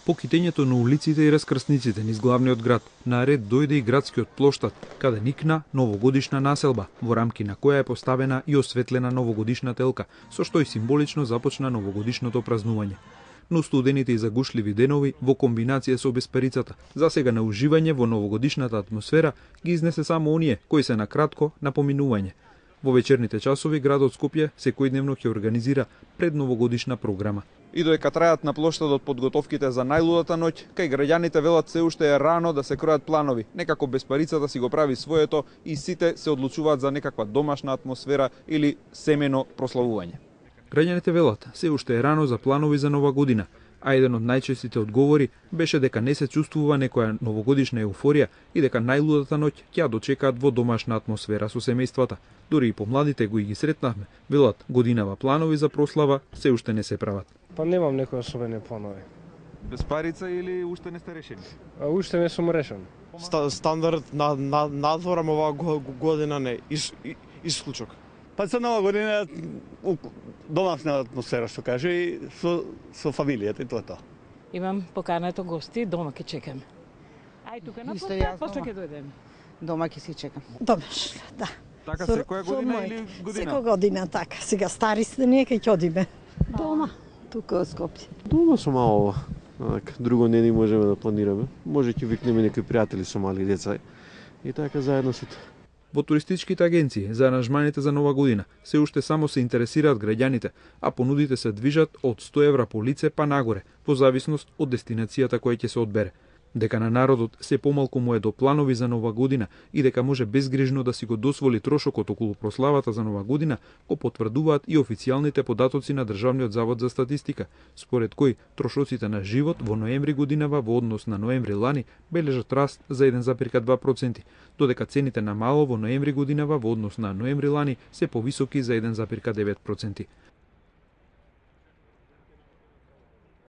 По китењето на улиците и раскрсниците низ главниот град, наред дојде и градскиот плоштад, каде никна новогодишна населба, во рамки на која е поставена и осветлена новогодишна телка, со што и символично започна новогодишното празнување. Но студените и загушливи денови, во комбинација со бесперицата, засега на уживање во новогодишната атмосфера, ги изнесе само оние кои се на кратко на поминување. Во вечерните часови градот Скопје секојдневно ќе организира предновогодишна програма. И додека трајат на плоштадот подготовките за најлудата ноќ, кај граѓаните велат се уште е рано да се кројат планови. Некако беспарицата си го прави своето и сите се одлучуваат за некаква домашна атмосфера или семено прославување. Граѓаните велат се уште е рано за планови за нова година, а еден од најчестите одговори беше дека не се чувствува некоја новогодишна еуфорија и дека најлудата ноќ ќе ја дочекаат во домашна атмосфера со семејствата. Дури и помладите кои ги сретнавме, велат годинава планови за прослава се уште не се прават. Па немам некои особени планови. Без парица или уште не сте решени? Уште не сум решен. Стандард надворам оваа година не, исклучок. Па за нова година домашна атмосфера, што каже, и со фамилијата и тоа. Имам покането гости, дома ќе чекаме. Ај тука на поста, после ќе дојдеме. Дома ќе си чекам. Домашно, да. Така секоја година или година? Секоја година така. Сега стари сте ние ќе одиме. Дома, тука во Скопје. Дома со мало, друго не ни можеме да планираме. Може ќе викнеме некои пријатели со мали деца и така заедно сите. Во туристичките агенции за аранжманите за нова година се уште само се интересираат граѓаните, а понудите се движат од 100 евра по лице па нагоре, во зависност од дестинацијата која ќе се одбере. Дека на народот се помалку му е до планови за нова година и дека може безгрижно да си го досволи трошокот околу прославата за нова година, го потврдуваат и официјалните податоци на Државниот завод за статистика, според кои трошоците на живот во ноември годинава во однос на ноември лани бележат раст за 1,2%, додека цените на мало во ноември годинава во однос на ноември лани се повисоки за 1,9%.